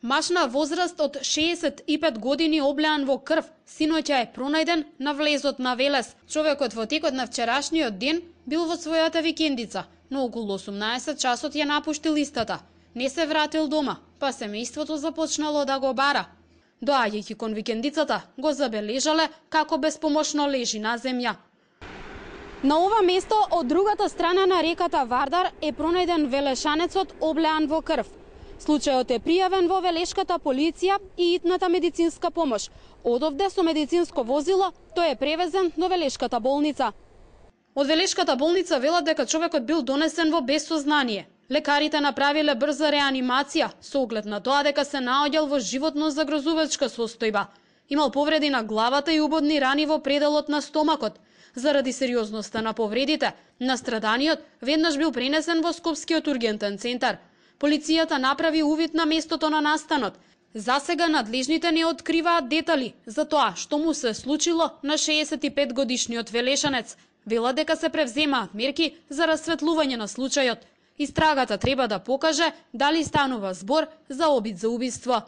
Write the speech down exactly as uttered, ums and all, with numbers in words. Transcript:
Маж на возраст од шеесет и пет години облеан во крв, синоќа е пронајден на влезот на Велес. Човекот во текот на вчерашниот ден бил во својата викендица, но околу осумнаесет часот ја напуштил истата. Не се вратил дома, па семејството започнало да го бара. Доаѓајќи кон викендицата, го забележале како беспомошно лежи на земја. На ова место од другата страна на реката Вардар е пронајден велешанецот облеан во крв. Случајот е пријавен во велешката полиција и итната медицинска помош. Одовде со медицинско возило тој е превезен до велешката болница. Од велешката болница велат дека човекот бил донесен во безсознание. Лекарите направиле брза реанимација со оглед на тоа дека се наоѓал во животно загрозувачка состојба. Имал повреди на главата и убодни рани во пределот на стомакот. Заради сериозноста на повредите, настраданиот веднаш бил пренесен во Скопскиот ургентен центар. Полицијата направи увид на местото на настанот. Засега надлежните не откриваат детали за тоа што му се случило на шеесет и пет годишниот велешанец. Велат дека се превземаат мерки за расветлување на случајот. Истрагата треба да покаже дали станува збор за обид за убиство.